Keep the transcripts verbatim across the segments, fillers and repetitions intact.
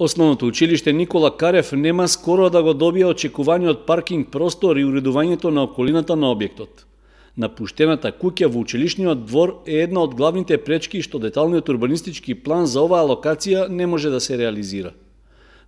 Основното училиште Никола Карев нема скоро да го добие очекуваниот паркинг простор и уредувањето на околината на објектот. Напуштената куќа во училишниот двор е една од главните пречки што деталниот урбанистички план за оваа локација не може да се реализира.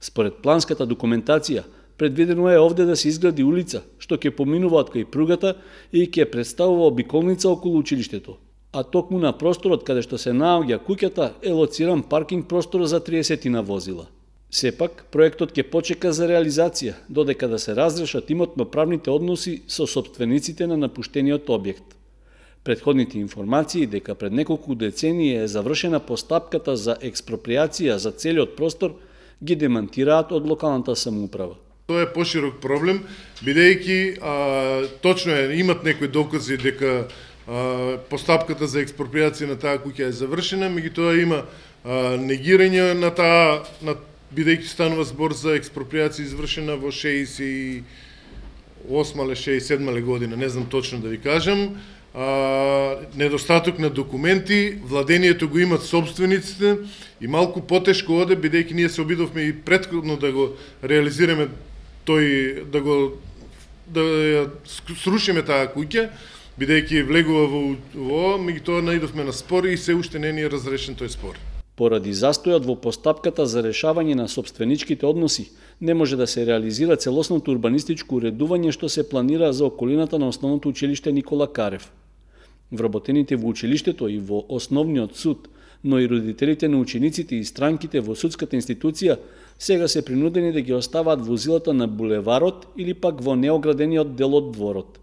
Според планската документација, предвидено е овде да се изгради улица, што ќе поминува од кај пругата и ќе представува обиколница околу училиштето. А токму на просторот каде што се наоѓа куќата е лоциран паркинг простор за триесет возила. Сепак, проектот ќе почека за реализација, додека да се разрешат имотно-правните односи со сопствениците на напуштениот објект. Предходните информации дека пред неколку децении е завршена постапката за експроприација за целиот простор ги демантираат од локалната самоуправа. Тоа е поширок проблем, бидејќи а, точно е, имат некои докази дека а, постапката за експроприација на таа куќа е завршена, меѓутоа има а, негирање на таа, на, бидејќи станува збор за експроприација извршена во шеесет и осма или шеесет и седма година, не знам точно да ви кажам. А, недостаток на документи, владението го имат собствениците и малку потешко оде, бидејќи ние се обидовме и претходно да го реализираме тој, да го да ја срушиме таа куќа, бидејќи влегува во во, меѓутоа наидовме на спор и се уште не ни е разрешен тој спор. Поради застојот во постапката за решавање на сопственичките односи, не може да се реализира целосното урбанистичко уредување што се планира за околината на основното училиште Никола Карев. Вработените во училиштето и во основниот суд, но и родителите на учениците и странките во судската институција сега се принудени да ги оставаат возилата на булеварот или пак во неоградениот дел од дворот.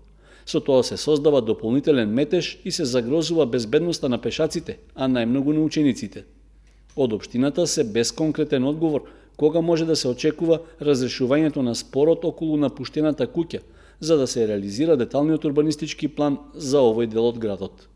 Со тоа се создава дополнителен метеж и се загрозува безбедноста на пешаците, а најмногу на учениците. Од општината се без конкретен одговор кога може да се очекува разрешувањето на спорот околу напуштената куќа, за да се реализира деталниот урбанистички план за овој дел од градот.